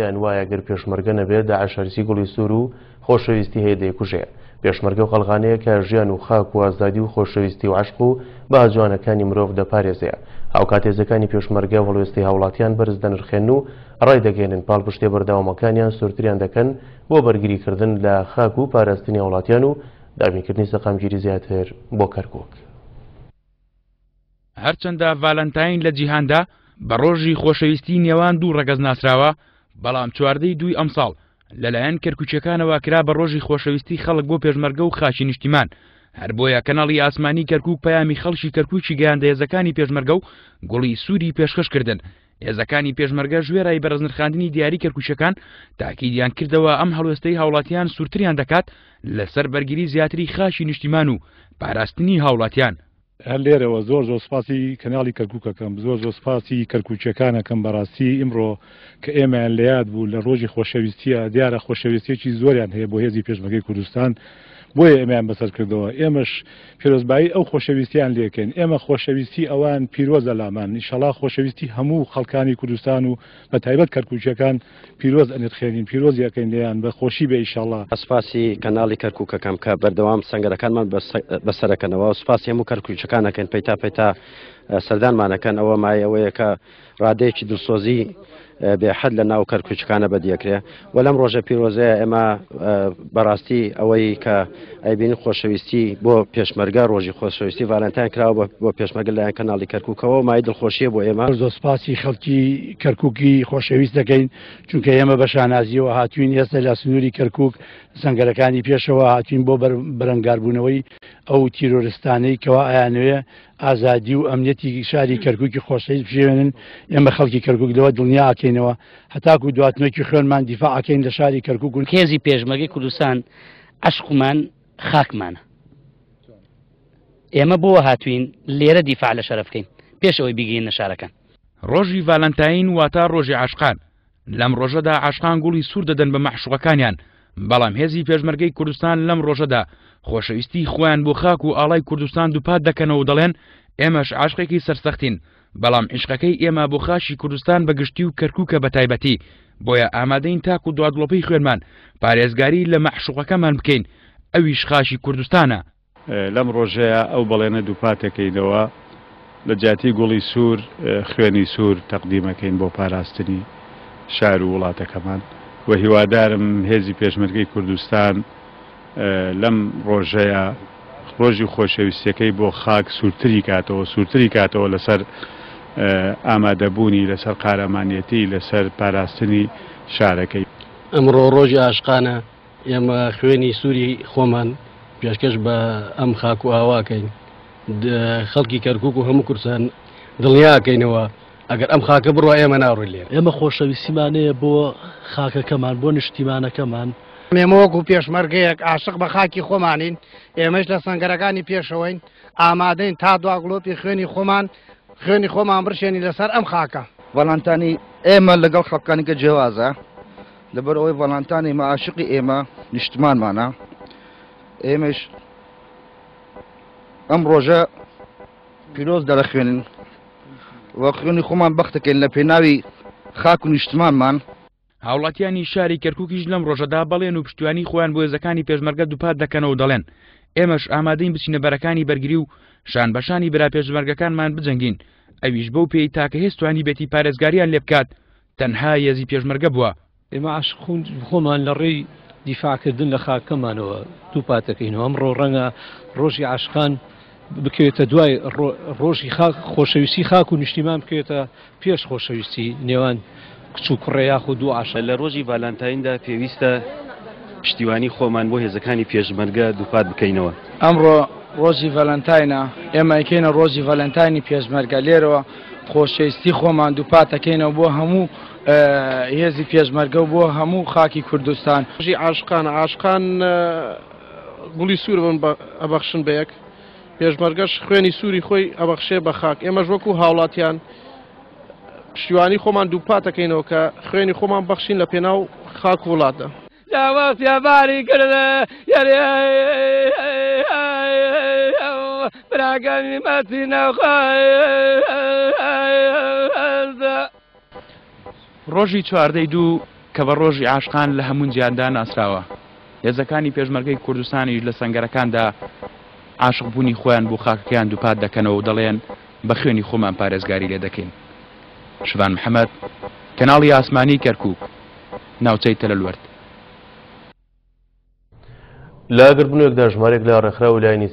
پێیان وایە گەر پێشمەرگە نەبێ داعش هەرچی گوڵی سوور و خۆشەویستی هەیە دەیکوژێ. پێشمەرگە و قەڵغانەیە کە ژیان و خاک و ئازادی و خۆشەویستی و عەشق و بەها جوانەکانی مرۆڤ دەپارێزێ. هاوکات هێزەکانی پێشمەرگە هەڵوێستی هاوڵاتیان بەرز دەنرخێنن و ڕایدەگەیەنن پاڵپشتیە بەردەوامەکانیان سوورتریان دەکەن بۆ بەرگریکردن لە خاک و پاراستنی هاوڵاتیان و دابینکردنی سەقامگیری زیاتر بۆ کەرکوک. هەرچەندە ڤالەنتاین لە جیهاندا بە ڕۆژی خۆشەویستی نێوان دوو ڕەگەز ناسراوە، بەڵام چواردەی دووی ئەمساڵ لەلایەن کەرکوکیەکانەوە کرا بە ڕۆژی خۆشەویستی خەڵک بۆ پێشمەرگە و خاکی نیشتیمان، هەر بۆیە کەناڵی ئاسمانی کەرکوک پەیامی خەڵکی کەرکوکی گەیاندە هێزەکانی پێشمەرگە و گوڵی سووری پێشکەش کردن. هێزەکانی پێشمەرگەش وێرای بەرزنرخاندنی دیاری کەرکوکیەکان تاکیدیان کردەوە ئەم هەڵوێستەی هاوڵاتیان سوورتریان دەکات لەسەر بەرگری زیاتری خاکی نیشتیمان و پاراستنی هاوڵاتیان. هەر لێرەوە زۆر زۆر سوپاسی کەناڵی کەرکوک ئەکەم، زۆر زۆر سوپاسی کەرکوکیەکان ئەکەم، بەڕاستی ئیمڕۆ کە ئێمەیان لە یاد بوو لە ڕۆژی خۆشەویستیە، دیارە خۆشەویستیەکی زۆریان هەیە بۆ هێزی پێشمەرگەی کوردستان، بۆیە ئێمەیان بەسەر کردەوە، ئێمەش پیرۆزبایی ئەو خۆشەویستیان لێکەین، ئێمە خۆشەویستی ئەوان پیرۆزە لامان، ئیشەڵا خۆشەویستی هەموو خەڵکانی کوردستان و بەتایبەت کەرکوکیەکان پیرۆز ئەنرخێنین پیرۆزی ئەکەین لێیان بە خۆشی بێ ئیشەڵا. سوپاسی کەناڵی کەرکوک ئەکەم کە بەردەوام سەنگەرەکانمان بەسەرەکەنەوە سوپاسی هەموو کەرکوکیەکان ئەکەین پەیتا پەیتا سەردانمان ئەکەن ئەوە مایەی ئەوەیە کە ڕادەیەکی دڵسۆزی بێ حەد لە ناو کەرکوکەکانە بەدیەکرێ و لەم ڕۆژە پیرۆزەیە ئێمە بەڕاستی ئەوەی کە ئەیبینین خۆشەویستی بۆ پێشمەرگە ڕۆژی خۆشەویستی ڤالنتاین کراوە بۆ پێشمەرگە لایەن کەناڵی کەرکوکەوە مای دڵخۆشیە بۆ ئێمە. زۆر سوپاسی خەڵکی کەرکوکی خۆشەویست دەکەین چونکە ئێمە بە شانازیەوە هاتوین ئێستا لە سنووری کەرکوک سەنگەرەکانی پێشەوە هاتوین بۆ بەرەنگاربوونەوەی ئەو تیرۆرستانەی کەوا ئەیانەوێ ئازادی و ئەمنیەتی شاری کەرکوکی خۆشەویست بشێوێنن. ئێمە خەڵکی کەرکوک لەوە دڵنیا ئەکەینەوە هەتاکو دواتنۆکی خوێنمان دیفاع ئەکەین لە شاری کەرکوک و هێزی پێشمەرگەی کوردستان عەشقمان خاکمانە. ئێمە بۆ هاتوین لێرە دیفاع لە شەرەف بکەین پێش ئەوەی بیگەینە شارەکان. ڕۆژی ڤالەنتاین واتا ڕۆژی عاشقان، لەم ڕۆژەدا عاشقان گوڵی سوور دەدەن بە مەعشوقەکانیان، بەڵام هێزی پێشمەرگەی کوردستان لەم ڕۆژەدا خۆشەویستی خۆیان بۆ خاک و ئاڵای کوردستان دووپات دەکەنەوە و دەڵێن ئێمەش عاشقێکی سەرسەختین، بەڵام عیشقەکەی ئێمە بۆ خاکی کوردستان بە گشتی و کەرکوکە بە تایبەتی، بۆیە ئامادەین تاکو دوا دڵۆپەی خوێنمان پارێزگاری لە مەعشوقەکەمان بکەین، ئەویش خاکی کوردستانە. لەم ڕۆژەیا ئەو بەڵێنە دووپاتەکەینەوە لە جیاتی گوڵی سوور خوێنی سوور تەقدیمەکەین بۆ پاراستنی شار و وڵاتەکەمان و هیوادارم هێزی پێشمەرگەی کوردستان لەم ڕۆژەیا ڕۆژی خۆشەویستیەکەی بۆ خاک سوورتری کاتەوە، سوورتری کاتەوە لەسەر ئامادەبوونی، لەسەر قارەمانیەتی، لەسەر پاراستنی شارەکەی. ئەمڕۆ ڕۆژی عاشقانە، ئێمە خوێنی سووری خۆمان پێشکەش بە ئەم خاک و ئاواکەین، خەڵکی کەرکوک و هەموو کوردستان دڵنیاکەینەوە ئەگەر ئەم خاکە بڕوا ئێمە ناڕۆین لێرە. ئێمە خۆشەویستیمان هەیە بۆ خاکەکەمان، بۆ نیشتیمانەکەمان. ئێمە وەکو پێشمەرگەیەک عاشق بە خاکی خۆمانین، ئێمەش لە سەنگەرەکانی پێشەوەین، ئامادەین تا دوا گڵۆپی خوێنی خۆمان خوێنی خۆمان بڕشێنین لەسەر ئەم خاکە. ڤالانتانی ئێمە لەگەڵ خەڵکانی کە جیاوازە، لەبەر ئەوەی ڤالانتانی ئێمە عاشقی ئێمە نیشتمانمانە، ئێمەش ئەم ڕۆژە پیرۆز دەرەخوێنین و خوێنی خۆمان بەختەکەین لە پێناوی خاک و نیشتمانمان. هاوڵاتیانی شاری کەرکوکیش لەم ڕۆژەدا بەڵێن و پشتیوانی خۆیان بۆ هێزەکانی پێشمەرگە دووپات دەکەنەوە و دەڵێن، ئێمەش ئامادەین بچینە بەرەکانی بەرگری و شان بە شانی برا پێشمەرگەکانمان بجەنگین، ئەویش بەو پێی تاکە هێز توانیبێتی پارێزگاریان لێبکات تەنها هێزی پێشمەرگە بووە. ئێمە عاشق خۆمان لە ڕێی دیفاعکردن لە خاکەمانەوە دووپات دەکەینەوە. ئەمڕۆ ڕەنگە ڕۆژی عاشقان بکەوێتە دوای ڕۆژی خاک، خۆشەویستی خاک و نیشتیمان بکەوێتە پێش خۆشەویستی نێوان کچ و کوڕێ یاخود دوو عاشق. لە ڕۆژی ڤالانتایندا پێویستە پشتیوانی خۆمان بۆ هێزەکانی پێشمەرگە دووپات بکەینەوە. ئەمڕۆ ڕۆژی ڤالانتاینە، ئێمە ئەیکەینە ڕۆژی ڤالانتاینی پێشمەرگە، لێرەوە خۆشەویستی خۆمان دووپات ئەکەینەوە بۆ هەموو هێزی پێشمەرگە و بۆ هەموو خاکی کوردستان. ڕۆژی عاشقانە، عاشقان گوڵی سوور ئەبەخشن بە یەک، پێشمەرگەش خوێنی سووری خۆی ئەبەخشێ بە خاک، ئێمەش وەکو هاوڵاتیان پشتیوانی خۆمان دووپات دەکەینەوە کە خوێنی خۆمان بەخشین لە پێناو خاک و وڵاتدا. ڕۆژی چواردەی دوو کە بە ڕۆژی عاشقان لە هەموو جیهاندا ناسراوە. هێزەکانی پێشمەرگەی کوردستانیش لە سەنگەرەکاندا عاشق بوونی خۆیان بۆ خاکەکەیان دووپات دەکەنەوە و دەڵێن بە خوێنی خۆمان پارێزگاری لێ دەکەین. شڤان محەمەد، کەناڵی ئاسمانی کەرکووک، ناوچەی تەلەلوەرد. لە گردبوونەوەیەکدا ژمارەیەک لە ڕێکخراو و لایەنی.